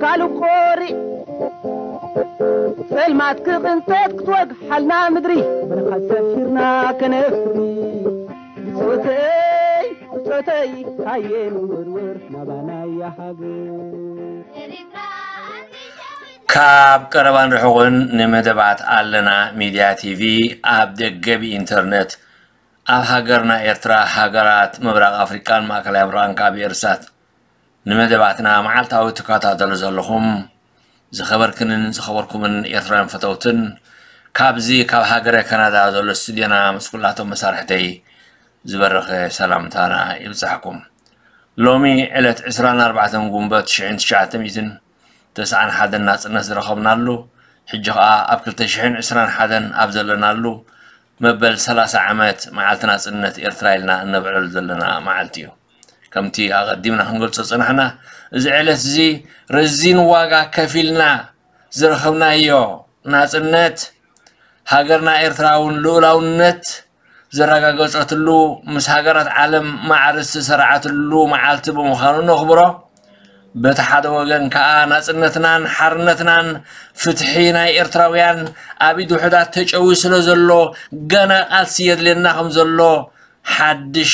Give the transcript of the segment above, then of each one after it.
ካልእ ቆሪዕ ጸልማት ክቕንጠጥ ክትወግሓልና ምድሪ፣ ብርሃን ሰፊርና ከነፍሪ። ብጾተይ፣ ብጾተይ፣ ሃየ ንወርወር ናባናያ ሃገር። ካብ ቀረባን ርሑቕን ንመደባት ኣለና ሚድያ ቲቪ ኣብ ደገ ብኢንተርነት ኣብ ሃገርና ኤርትራ፣ ሃገራት ምብራቕ ኣፍሪቃን ማእከላይ ምብራቕን ካብ ኤርሳት ንመደባትና መዓልታዊ ትከታተሉ ዘለኹም ዝኸበርክንን ዝኸበርኩምን ኤርትራውያን ፈተውትን፣ ካብዚ ካብ ሃገረ ካናዳ ዘሎ ስቱድዮና ምስ ኩላቶም መሳርሕተይ ዝበረኸ ሰላምታና ይብጻሕኩም። ሎሚ ዕለት ዕስራን ኣርባዕተን ጉንበት ሽሕን ትሽዓተ ሚእትን ተስዓን ሓደን ናጽነት ዝረኸብናሉ፣ ሕጂ ኸኣ ኣብ ክልተ ሽሕን ዕስራን ሓደን ኣብ ዘለናሉ፣ መበል ሰላሳ ዓመት መዓልቲ ናጽነት ኤርትራ ኢልና እነብዕለሉ ዘለና መዓልቲ እዩ። ከምቲ ኣቐዲምና ክንገልጾ ዝጸናሕና፣ እዚ ዕለት እዚ ረዚን ዋጋ ከፊልና ዝረኸብናዮ ናጽነት፣ ሃገርና ኤርትራ እውን ልኡላውነት ዘረጋገጸትሉ፣ ምስ ሃገራት ዓለም ማዕረ ዝተሰርዓትሉ መዓልቲ ብምዃኑ ነኽብሮ። በቲ ሓደ ወገን ከኣ ናጽነትናን ሓርነትናን ፍትሒ ናይ ኤርትራውያን ኣብ ኢድ ውሑዳት ተጨውዩ ስለ ዘሎ፣ ገና ቃልሲ የድልየና ከም ዘሎ፣ ሓድሽ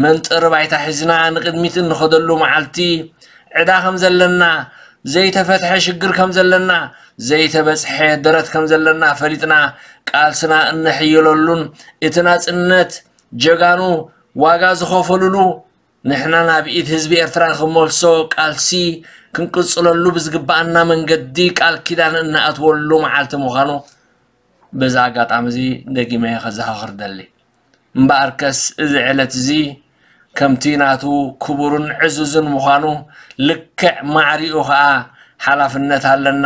መንጠሪ ባይታ ሒዝና ንቕድሚት እንኸደሉ መዓልቲ፣ ዕዳ ከም ዘለና፣ ዘይተፈትሐ ሽግር ከም ዘለና፣ ዘይተበጽሐ ደረት ከም ዘለና ፈሊጥና፣ ቃልስና እነሕይለሉን እቲ ናጽነት ጀጋኑ ዋጋ ዝኸፈሉሉ፣ ንሕና ናብ ኢድ ህዝቢ ኤርትራ ንኽንመልሶ ቃልሲ ክንቅጽለሉ ብዝግብኣና መንገዲ ቃል ኪዳን እንኣትወሉ መዓልቲ ምዃኑ በዚ ኣጋጣሚ እዚ ደጊመ ከዘኻኽር ደሊ። እምበኣርከስ እዚ ዕለት እዚ ከምቲ ናቱ ክቡርን ዕዙዝን ምዃኑ፣ ልክዕ ማዕሪኡ ኸኣ ሓላፍነት ኣለና።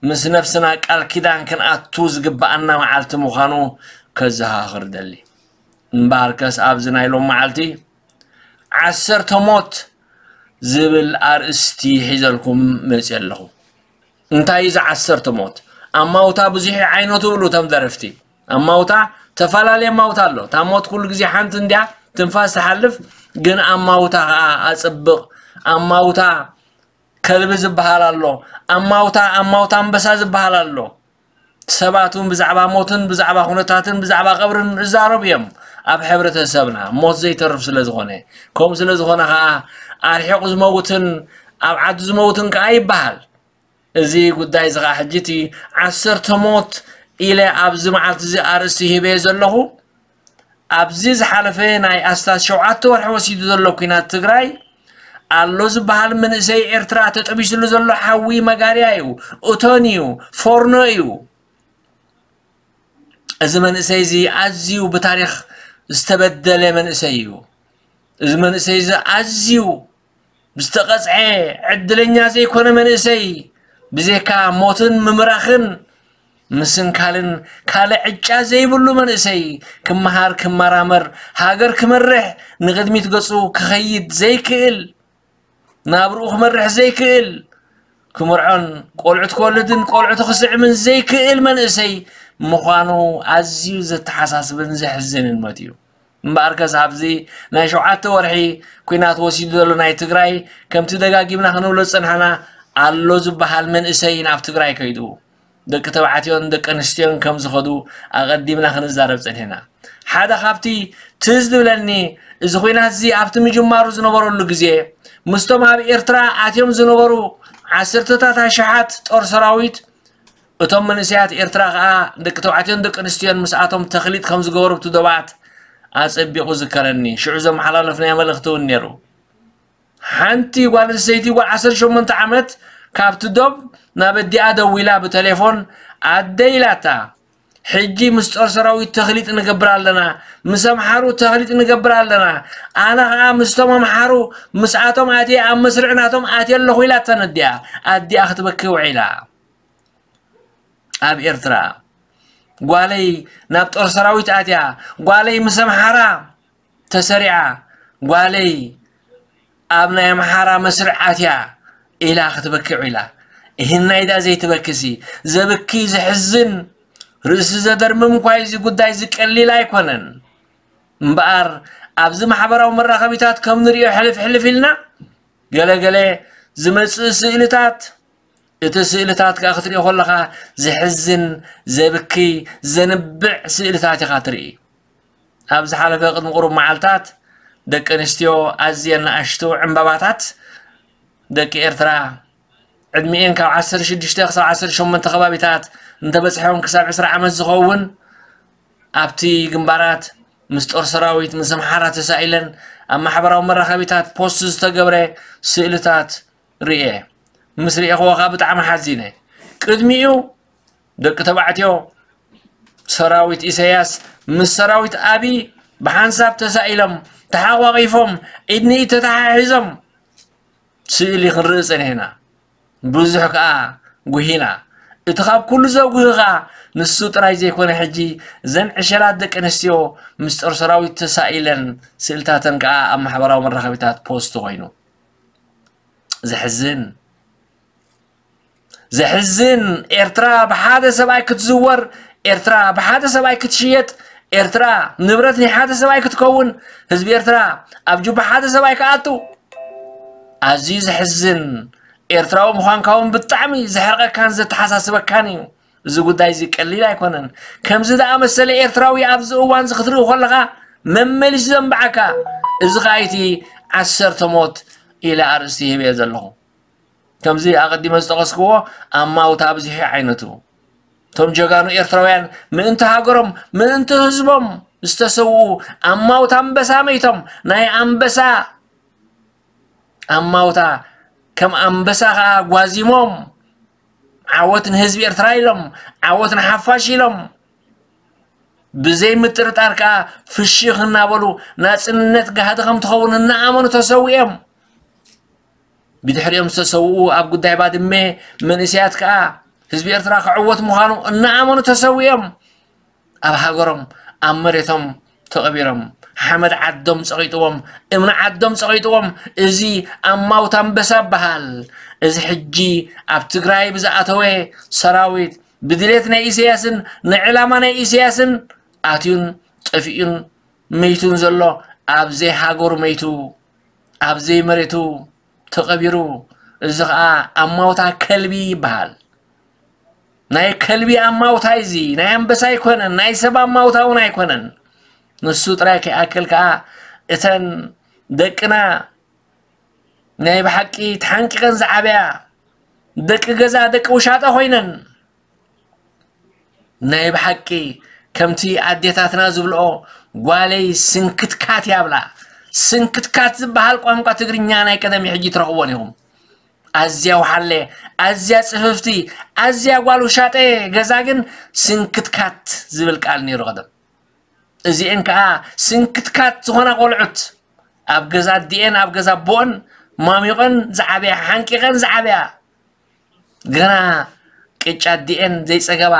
ምስ ነፍስና ቃል ኪዳን ክንኣቱ ዝግብኣና መዓልቲ ምዃኑ ከዘኻኽር ደሊ። እምበኣርከስ ኣብዚ ናይ ሎም መዓልቲ ዓሰርተ ሞት ዝብል ኣርእስቲ ሒዘልኩም መጽየ ኣለኹ። እንታይ እዩ እዚ ዓሰርተ ሞት? ኣማውታ ብዙሕ ዓይነቱ ይብሉ እቶም ደረፍቲ። ኣማውታ፣ ተፈላለየ ኣማውታ ኣሎ። እታ ሞት ኩሉ ግዜ ሓንቲ እንድያ፣ ትንፋስ ትሓልፍ፣ ግን ኣማውታ ኸኣ ኣጽብቕ። ኣማውታ ከልቢ ዝበሃል ኣሎ። ኣማውታ፣ ኣማውታ ኣንበሳ ዝበሃል ኣሎ። ሰባት እውን ብዛዕባ ሞትን ብዛዕባ ኩነታትን ብዛዕባ ቀብርን ይዛረቡ እዮም። ኣብ ሕብረተሰብና ሞት ዘይተርፍ ስለ ዝኾነ፣ ከምኡ ስለ ዝኾነ ኸኣ ኣርሒቑ ዝመውትን ኣብ ዓዱ ዝመውትን ከኣ ይበሃል። እዚ ጉዳይ እዚ ኸኣ ሕጂ እቲ ዓሰርተ ሞት ኢለ ኣብዚ መዓልቲ እዚ ኣርእስቲ ሂበዮ ዘለኹ፣ ኣብዚ ዝሓለፈ ናይ ኣስታት ሸውዓተ ወርሒ ወሲዱ ዘሎ ኲናት ትግራይ፣ ኣሎ ዝበሃል መንእሰይ ኤርትራ ተጠቢስሉ ዘሎ ሓዊ መጋርያ እዩ፣ እቶን እዩ፣ ፎርኖ እዩ። እዚ መንእሰይ እዚ ኣዝዩ ብታሪኽ ዝተበደለ መንእሰይ እዩ። እዚ መንእሰይ እዚ ኣዝዩ ብዝተቐጽዐ ዕድለኛ ዘይኮነ መንእሰይ፣ ብዘይካ ሞትን ምምራኽን ምስንካልን ካልእ ዕጫ ዘይብሉ መንእሰይ፣ ክመሃር፣ ክመራመር፣ ሃገር ክመርሕ፣ ንቕድሚት ገጹ ክኸይድ ዘይክእል፣ ናብርኡ ክመርሕ ዘይክእል፣ ክምርዖን ቆልዑት ክወልድን ቆልዑቱ ክስዕምን ዘይክእል መንእሰይ ምዃኑ ኣዝዩ ዘተሓሳስብን ዘሕዝንን ሞት እዩ። እምበኣርከስ ኣብዚ ናይ ሸውዓተ ወርሒ ኲናት ወሲዱ ዘሎ ናይ ትግራይ፣ ከምቲ ደጋጊምና ክንብሎ ዝጸናሕና፣ ኣሎ ዝበሃል መንእሰይ ናብ ትግራይ ከይዱ፣ ደቂ ተባዕትዮን ደቂ ኣንስትዮን ከም ዝኸዱ ኣቐዲምና ክንዛረብ ጸኒሕና። ሓደ ካብቲ ትዝ ዝብለኒ፣ እዚ ኲናት እዚ ኣብቲ ምጅማሩ ዝነበረሉ ግዜ፣ ምስቶም ኣብ ኤርትራ ኣትዮም ዝነበሩ ዓሰርተታት ኣሽሓት ጦር ሰራዊት፣ እቶም መንእሰያት ኤርትራ ኸኣ ደቂ ተባዕትዮን ደቂ ኣንስትዮን ምስኣቶም ተኽሊጥ ከም ዝገበሩ ኣብቲ ዶባት ኣጸቢቑ ዝከረኒ። ሽዑ ዘመሓላለፍናዮ መልእኽቲ እውን ነይሩ። ሓንቲ ጓል ኣንስተይቲ፣ ጓል ዓሰርተ ሸሞንተ ዓመት፣ ካብቲ ዶብ ናብ ኣዲኣ ደዊላ ብቴሌፎን፣ ኣደ ኢላታ፣ ሕጂ ምስ ጦር ሰራዊት ተኽሊጥ ንገብር ኣለና፣ ምስ ኣምሓሩ ተኽሊጥ ንገብር ኣለና፣ ኣነ ኸኣ ምስቶም ኣምሓሩ ምስኣቶም ኣትየ ኣብ መስርዕ ናቶም ኣትየ ኣለኹ ኢላታ ነዲኣ። ኣዲኣ ክትበኪ ውዒላ። ኣብ ኤርትራ ጓለይ ናብ ጦር ሰራዊት ኣትያ፣ ጓለይ ምስ ኣምሓራ ተሰሪዓ፣ ጓለይ ኣብ ናይ ኣምሓራ መስርዕ ኣትያ ኢላ ክትበኪ ውዒላ። እህናይ ዳ ዘይትበክሲ፣ ዘብኪ ዘሕዝን ርእሲ ዘደርምም እኳ እዚ ጉዳይ እዚ ቀሊል ኣይኮነን። እምበኣር ኣብዚ ማሕበራዊ መራኸቢታት ከም ንሪኦ ሕልፍ ሕልፍ ኢልና ገለ ገለ ዝመጽእ ስእልታት እቲ ስእልታት ከኣ ክትሪኦ ከለኻ ዘሕዝን፣ ዘብክይ፣ ዘንብዕ ስእልታት ኢኻ ትርኢ። ኣብ ዝሓለፈ ቅድሚ ቁሩብ መዓልታት ደቂ ኣንስትዮ ኣዝየን ንኣሽቱ ዕምባባታት ደቂ ኤርትራ ዕድሚኤን ካብ ዓሰርተ ሽዱሽተ ክሳብ ዓሰርተ ሸሞንተ ከባቢታት እንተበጽሐን ክሳብ ዕስራ ዓመት ዝኸውን ኣብቲ ግንባራት ምስ ጦር ሰራዊት ምስ ኣምሓራ ተሳኢለን ኣብ ማሕበራዊ መራኸቢታት ፖስት ዝተገብረ ስእልታት ርእየ። ምስ ርእየኽዎ ከዓ ብጣዕሚ ሓዚነ። ቅድሚኡ ደቂ ተባዕትዮ ሰራዊት ኢሳያስ ምስ ሰራዊት ኣብይ ብሓንሳብ ተሳኢሎም ተሓቋቒፎም ኢድ ንኢድ ተተሓሒዞም ስእሊ ክንርኢ ጸኒሕና። ብዙሕ ከኣ ጉሂና። እቲ ካብ ኩሉ ዘጉሂ ከኣ ንሱ ጥራይ ዘይኮነ ሕጂ ዘን ዕሸላት ደቂ ኣንስትዮ ምስ ጦር ሰራዊት ተሳኢለን ስእልታተን ከኣ ኣብ ማሕበራዊ መራኸቢታት ፖስት ኮይኑ። ዘሕዝን። ዘሕዝን። ኤርትራ ብሓደ ሰብኣይ ክትዝወር፣ ኤርትራ ብሓደ ሰብኣይ ክትሽየጥ፣ ኤርትራ ንብረት ናይ ሓደ ሰብኣይ ክትከውን፣ ህዝቢ ኤርትራ ኣብ ጁባ ሓደ ሰብኣይ ክኣቱ። ኣዝዩ ዘሕዝን። ኤርትራዊ ምዃንካ እውን ብጣዕሚ ዘሕርቐካን ዘተሓሳስበካን እዩ። እዚ ጉዳይ እዚ ቀሊል ኣይኮነን። ከምዚ ዝኣመሰለ ኤርትራዊ ኣብዚ እዋን እዚ ክትርኢ ከለኻ መመሊሱ ዘንብዓካ። እዚ ኸኣ እቲ ዓሰርተ ሞት ኢለ ኣርእስቲ ሂበዮ ዘለኹ። ከምዚ ኣቐዲመ ዝጠቐስክዎ ኣማውታ ኣብዚሑ ዓይነቱ። እቶም ጀጋኑ ኤርትራውያን ምእንቲ ሃገሮም፣ ምእንቲ ህዝቦም ዝተሰውኡ ኣማውታ ኣንበሳ መይቶም፣ ናይ ኣንበሳ ኣማውታ ከም ኣንበሳ ኸኣ ጓዚሞም፣ ዓወት ንህዝቢ ኤርትራ ኢሎም፣ ዓወት ንሓፋሽ ኢሎም፣ ብዘይ ምጥርጣር ከኣ ፍሽኽ እናበሉ ናጽነት ጋህዲ ከም ትኸውን እናኣመኑ ተሰዊኦም። ብድሕሪኦም ዝተሰውኡ ኣብ ጉዳይ ባድመ መንእሰያት ከኣ ህዝቢ ኤርትራ ክዕወት ምዃኑ እናኣመኑ ተሰዊኦም። ኣብ ሃገሮም፣ ኣብ መሬቶም ተቐቢሮም፣ ሓመድ ዓዶም ጸቒጥዎም፣ እምኒ ዓዶም ጸቒጥዎም። እዚ ኣማውታ ኣንበሳ ይበሃል። እዚ ሕጂ ኣብ ትግራይ ብዝኣተወ ሰራዊት፣ ብድሌት ናይ ኢሳያስን ንዕላማ ናይ ኢሳያስን ኣትዩን ጠፊኡን መይቱን ዘሎ፣ ኣብ ዘይሃገሩ መይቱ፣ ኣብ ዘይመሬቱ ተቐቢሩ። እዚ ኸኣ ኣማውታ ከልቢ ይበሃል። ናይ ከልቢ ኣማውታ እዚ፣ ናይ ኣንበሳ ኣይኮነን፣ ናይ ሰብ ኣማውታ እውን ኣይኮነን። ንሱ ጥራይ ከይኣክል ከኣ እተን ደቅና ናይ ብሓቂ ተሓንቂቐን ዝዓበያ ደቂ ገዛ፣ ደቂ ውሻጠ ኮይነን፣ ናይ ብሓቂ ከምቲ ኣዴታትና ዝብልኦ፣ "ጓለይ ስንክትካት" ያብላ። ስንክትካት ዝበሃል ቋንቋ ትግርኛ ናይ ቀደም ሕጂ ትረኽቦን ኢኹም። ኣዝያ ውሓለ፣ ኣዝያ ጽፍፍቲ፣ ኣዝያ ጓል ውሻጠ ገዛ ግን ስንክትካት ዝብል ቃል ነይሩ ቀደም። እዚኤን ከኣ ስንክትካት ዝኾና ቆልዑት፣ ኣብ ገዛ ኣዲኤን ኣብ ገዛ ኣቦኦን ማሚቐን ዝዓበያ፣ ሓንቂቐን ዝዓበያ፣ ገና ቅጫ ኣዲኤን ዘይጸገባ፣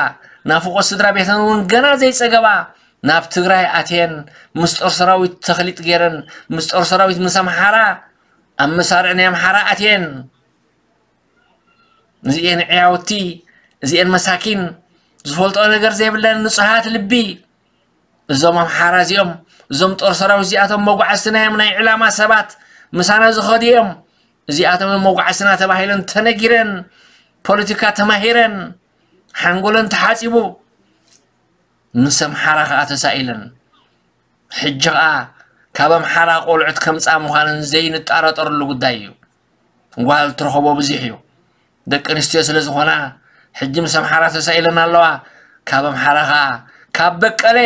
ናፍቖት ስድራ ቤተን እውን ገና ዘይጸገባ፣ ናብ ትግራይ ኣትየን፣ ምስ ጦር ሰራዊት ተኽሊጥ ገይረን፣ ምስ ጦር ሰራዊት ምስ ኣምሓራ፣ ኣብ መሳርዕ ናይ ኣምሓራ ኣትየን። እዚኤን ዕያውቲ፣ እዚኤን መሳኪን፣ ዝፈልጦ ነገር ዘይብለን ንጹሃት ልቢ። እዞም ኣምሓራ እዚኦም፣ እዞም ጦር ሰራዊት እዚኣቶም መጓዕዝትና እዮም፣ ናይ ዕላማ ሰባት ምሳና ዝኸዱ እዮም። እዚኣቶም እዮም መጓዕዝትና ተባሂለን ተነጊረን፣ ፖለቲካ ተማሂረን፣ ሓንጎለን ተሓጺቡ፣ ምስ ኣምሓራ ከኣ ተሳኢለን። ሕጂ ኸኣ ካብ ኣምሓራ ቆልዑት ከምጻ ምዃነን ዘይንጠራጠረሉ ጉዳይ እዩ። ጓል ትረኸቦ ብዙሕ እዩ። ደቂ ኣንስትዮ ስለ ዝኾና፣ ሕጂ ምስ ኣምሓራ ተሳኢለን ኣለዋ። ካብ ኣምሓራ ኸኣ፣ ካብ በቀለ፣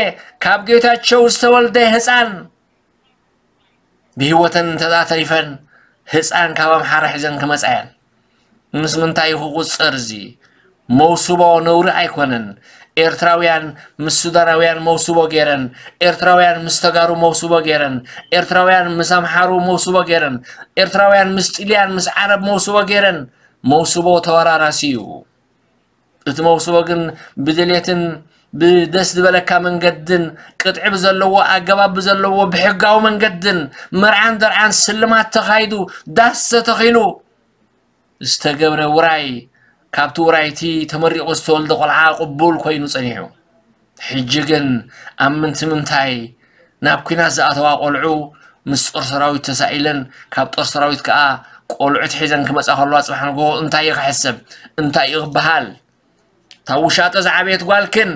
ካብ ጌታቸው ዝተወልደ ህጻን፣ ብህይወተን እንተ ተሪፈን፣ ህጻን ካብ ኣምሓራ ሒዘን ክመጻ እየን። ምስ ምንታይ እዩ ክቑጸር እዚ? መውስቦ ነውሪ ኣይኮነን። ኤርትራውያን ምስ ሱዳናውያን መውስቦ ገይረን፣ ኤርትራውያን ምስ ተጋሩ መውስቦ ገይረን፣ ኤርትራውያን ምስ ኣምሓሩ መውስቦ ገይረን፣ ኤርትራውያን ምስ ጥልያን ምስ ዓረብ መውስቦ ገይረን። መውስቦ ተወራራሲ እዩ። እቲ መውስቦ ግን ብድሌትን ብደስ ዝበለካ መንገድን ቅጥዒ ብዘለዎ ኣገባብ ብዘለዎ ብሕጋዊ መንገድን መርዓን ደርዓን ስልማት ተኻይዱ ዳስ ተተኺሉ ዝተገብረ ውራይ፣ ካብቲ ውራይ እቲ ተመሪቑ ዝተወልደ ቆልዓ ቅቡል ኮይኑ ጸኒሑ። ሕጂ ግን ኣብ ምንቲ ምንታይ ናብ ኲናት ዝኣተዋ ቆልዑ ምስ ጦር ሰራዊት ተሳኢለን፣ ካብ ጦር ሰራዊት ከኣ ቆልዑት ሒዘን ክመጻ ከለዋ ጽባሕ ንግሆ እንታይ እዩ ክሕሰብ? እንታይ እዩ ክበሃል? እታ ውሻጠ ዝዓበየት ጓልክን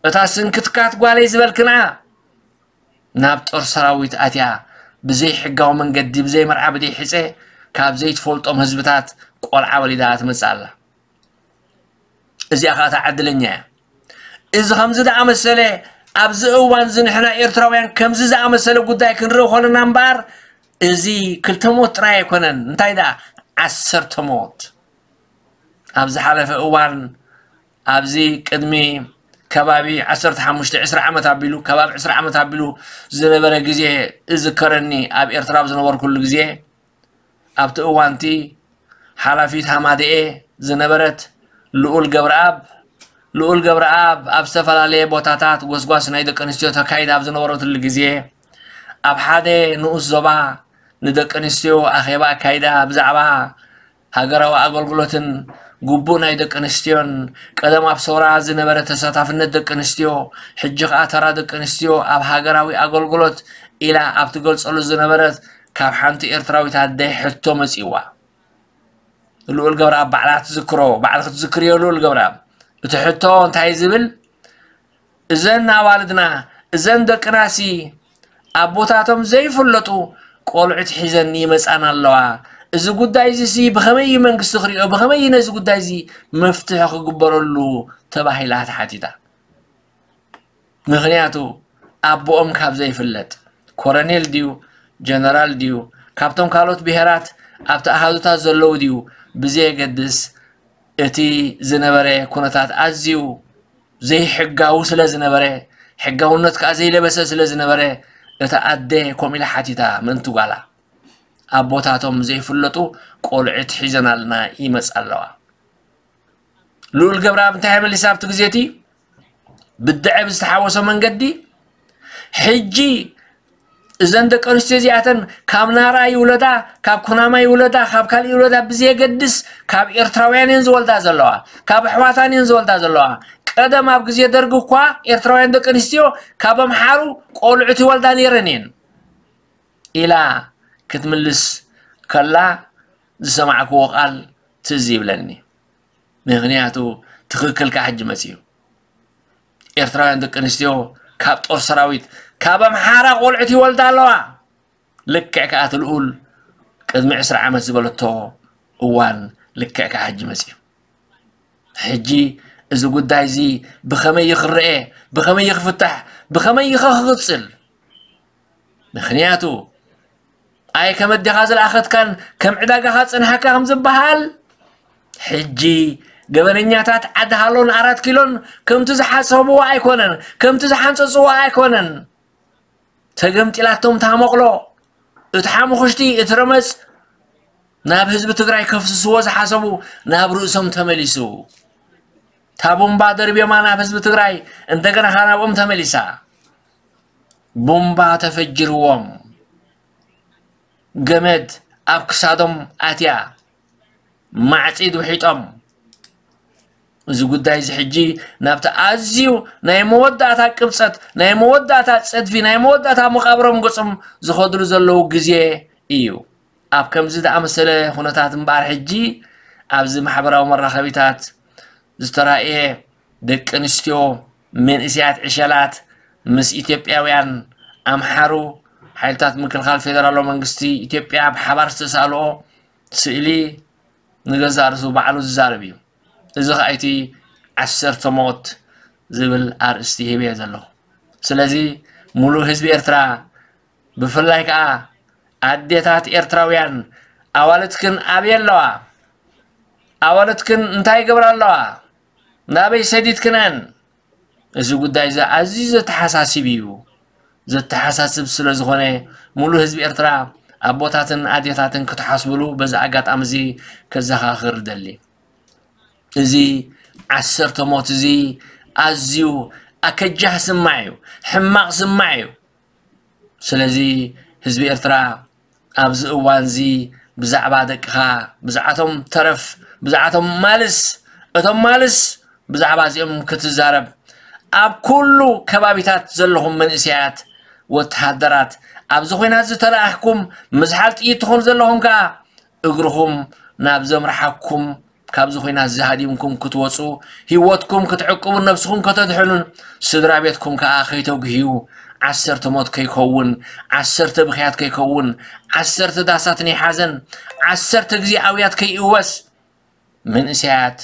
እታ ስንክትካት ጓለይ ዝበልክና ናብ ጦር ሰራዊት ኣትያ ብዘይ ሕጋዊ መንገዲ ብዘይ መርዓ ብዘይ ሕፀ ካብ ዘይትፈልጦም ህዝብታት ቆልዓ ወሊዳ ትመፅእ ኣላ። እዚኣ ከዓ እታ ዕድለኛ እያ። እዚ ከምዚ ዝኣመሰለ ኣብዚ እዋን እዚ ንሕና ኤርትራውያን ከምዚ ዝኣመሰለ ጉዳይ ክንርኢ ኮለና እምበኣር እዚ ክልተ ሞት ጥራይ ኣይኮነን፣ እንታይ ደኣ ዓሰርተ ሞት ኣብ ዝሓለፈ እዋን ኣብዚ ቅድሚ ከባቢ ዓሰርተ ሓሙሽተ ዕስራ ዓመት ኣቢሉ ከባቢ ዕስራ ዓመት ኣቢሉ ዝነበረ ግዜ እዝከረኒ። ኣብ ኤርትራ ኣብ ዝነበርኩሉ ግዜ ኣብቲ እዋንቲ ሓላፊት ሃማደኤ ዝነበረት ልኡል ገብረኣብ ልኡል ገብረኣብ ኣብ ዝተፈላለየ ቦታታት ጎስጓስ ናይ ደቂ ኣንስትዮ ተካይድ ኣብ ዝነበረትሉ ግዜ ኣብ ሓደ ንኡስ ዞባ ንደቂ ኣንስትዮ ኣኼባ ኣካይዳ ብዛዕባ ሃገራዊ ኣገልግሎትን ግቡእ ናይ ደቂ ኣንስትዮን ቀደም ኣብ ሰውራ ዝነበረ ተሳታፍነት ደቂ ኣንስትዮ ሕጂ ከኣ ተራ ደቂ ኣንስትዮ ኣብ ሃገራዊ ኣገልግሎት ኢላ ኣብ ትገልጸሉ ዝነበረት ካብ ሓንቲ ኤርትራዊት ኣደ ሕቶ መጺእዋ። ልኡል ገብረኣብ ባዕላ ክትዝክሮ ባዕልኺ ትዝክርዮ ልኡል ገብረኣብ እቲ ሕቶ እንታይ ዝብል እዘን ኣዋልድና እዘን ደቅናሲ ኣቦታቶም ዘይፍለጡ ቆልዑት ሒዘን ይመጻና ኣለዋ። እዚ ጉዳይ እዚ ሲ ብኸመይ እዩ መንግስቲ ክሪኦ? ብኸመይ እዩ ነዚ ጉዳይ እዚ መፍትሒ ክግበረሉ? ተባሂላ ተሓቲታ። ምኽንያቱ ኣቦኦም ካብ ዘይፍለጥ ኮረኔል ድዩ ጀነራል ድዩ ካብቶም ካልኦት ብሄራት ኣብቲ ኣሃዙታት ዘለዉ ድዩ ብዘየገድስ እቲ ዝነበረ ኩነታት ኣዝዩ ዘይሕጋዊ ስለ ዝነበረ ሕጋውነት ከዓ ዘይለበሰ ስለ ዝነበረ እታ ኣደ ከምኡ ኢላ ሓቲታ ምእንቲ ጓላ ኣቦታቶም ዘይፍለጡ ቆልዕት ሒዘናልና ይመፃ ኣለዋ። ልኡል ገብረኣብ እንታይ መሊሳ ኣብቲ ግዜ እቲ ብድዐ ብዝተሓወሶ መንገዲ ሕጂ እዘን ደቂ ኣንስትዮ እዚኣተን ካብ ናራ ይውለዳ ካብ ኩናማ ይውለዳ ካብ ካልእ ይውለዳ ብዘየገድስ ካብ ኤርትራውያን እየን ዝወልዳ ዘለዋ ካብ ኣሕዋታን እየን ዝወልዳ ዘለዋ ቀደም ኣብ ግዜ ደርጊ እኳ ኤርትራውያን ደቂ ኣንስትዮ ካብ ኣምሓሩ ቆልዑት ይወልዳ ነይረን እየን ኢላ ክትምልስ ከላ ዝሰማዕክዎ ቃል ትዝ ይብለኒ። ምኽንያቱ ትኽክል ከዓ ሕጂ መፅዩ። ኤርትራውያን ደቂ ኣንስትዮ ካብ ጦር ሰራዊት ካብ ኣምሓራ ቆልዑት ይወልዳ ኣለዋ። ልክዕ ከዓ እቲ ልኡል ቅድሚ ዕስራ ዓመት ዝበለቶ እዋን ልክዕ ከዓ ሕጂ መፅዩ። ሕጂ እዚ ጉዳይ እዚ ብኸመይ ይኽረኤ ብኸመይ ይኽፍታሕ ብኸመይ ይኸ ክቕፅል ምኽንያቱ ኣይ ከም ኣዴኻ ዝለኣኸትካን ከም ዕዳጋኻ ዝጸንሓካ ከም ዝበሃል ሕጂ ገበነኛታት ዓዲ ሃሎን ኣራት ኪሎን ከምቲ ዝሓሰብዎ ኣይኮነን ከምቲ ዝሓንጸጽዎ ኣይኮነን ተገምጢላቶም ታመቕሎ እቲ ሓሙኽሽቲ እቲ ረመጽ ናብ ህዝቢ ትግራይ ከፍስስዎ ዝሓሰቡ ናብ ርእሶም ተመሊሱ ታቡምባ ደርብዮማ ናብ ህዝቢ ትግራይ እንደገና ናብኦም ተመሊሳ ቡምባ ተፈጅርዎም ገመድ ኣብ ክሳዶም ኣትያ ማዕፂድ ውሒጦም እዚ ጉዳይ እዚ ሕጂ ናብቲ ኣዝዩ ናይ መወዳእታ ቅብፀት ናይ መወዳእታ ፀድፊ ናይ መወዳእታ መቃብሮም ገፆም ዝኸድሉ ዘለዉ ግዜ እዩ ኣብ ከምዚ ዝኣመሰለ ኩነታት እምበኣር ሕጂ ኣብዚ ማሕበራዊ መራኸቢታት ዝተራእየ ደቂ ኣንስትዮ መንእሰያት ዕሸላት ምስ ኢትዮጵያውያን ኣምሓሩ ሓይልታት ምክልኻል ፌደራላዊ መንግስቲ ኢትዮጵያ ብሓባር ዝተሳእልኦ ስእሊ ንገዛእ ርእሱ ባዕሉ ዝዛረብ እዩ። እዚ ከዓ እቲ ዓሰርተ ሞት ዝብል ኣርእስቲ ሂበዮ ዘለኹ። ስለዚ ሙሉእ ህዝቢ ኤርትራ ብፍላይ ከዓ ኣዴታት ኤርትራውያን ኣዋልድክን ኣበይ ኣለዋ? ኣዋልድክን እንታይ ይገብራ ኣለዋ? ናበይ ሰዲድክነን? እዚ ጉዳይ እዚ ኣዝዩ ዘተሓሳስብ እዩ። ዘተሓሳስብ ስለ ዝኾነ ሙሉ ህዝቢ ኤርትራ ኣቦታትን ኣዴታትን ክትሓስብሉ በዚ ኣጋጣሚ እዚ ከዘኻኽር እደሊ። እዚ ዓሰርተ ሞት እዚ ኣዝዩ ኣከጃህ ስማዕ እዩ፣ ሕማቕ ስማዕ እዩ። ስለዚ ህዝቢ ኤርትራ ኣብዚ እዋን እዚ ብዛዕባ ደቅኻ ብዛዕቶም ተረፍ ብዛዕቶም ማልስ እቶም ማልስ ብዛዕባ እዚኦም ክትዛረብ ኣብ ኩሉ ከባቢታት ዘለኹም መንእሰያት ወተሃደራት ኣብዚ ኹናት ዝተለኣኽኩም ምዝሓል ጥይት ትኾኑ ዘለኹም ከኣ እግርኹም ናብ ዘምርሓኩም፣ ካብዚ ኹናት እዚ ሃዲምኩም ክትወፁ፣ ህይወትኩም ክትዕቅቡን ነብስኹም ከተድሕኑን፣ ስድራ ቤትኩም ከዓ ከይተጉህዩ፣ ዓሰርተ ሞት ከይከውን፣ ዓሰርተ ብኽያት ከይከውን፣ ዓሰርተ ዳሳት ናይ ሓዘን፣ ዓሰርተ ግዜ ኣውያት ከይእወስ፣ መንእሰያት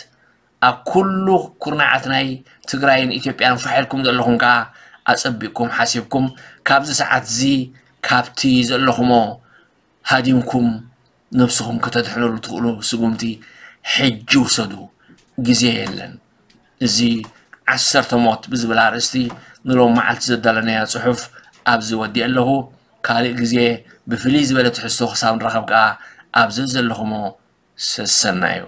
ኣብ ኩሉ ኩርናዓት ናይ ትግራይን ኢትዮጵያን ፋሕ ኢልኩም ዘለኹም ከዓ ኣፀቢቕኩም ሓሲብኩም፣ ካብዚ ሰዓት እዚ ካብቲ ዘለኹሞ ሃዲምኩም ነብስኹም ከተድሕነሉ ትኽእሉ ስጉምቲ ሕጂ ውሰዱ። ግዜ የለን። እዚ ዓሰርተ ሞት ብዝብል ኣርእስቲ ንሎም መዓልቲ ዘዳለናያ ጽሑፍ ኣብዚ ወዲእ ኣለኹ። ካልእ ግዜ ብፍልይ ዝበለ ትሕዝቶ ክሳብ ንራኸብ ከኣ ኣብ ዘዘለኹሞ ሰሰናዩ።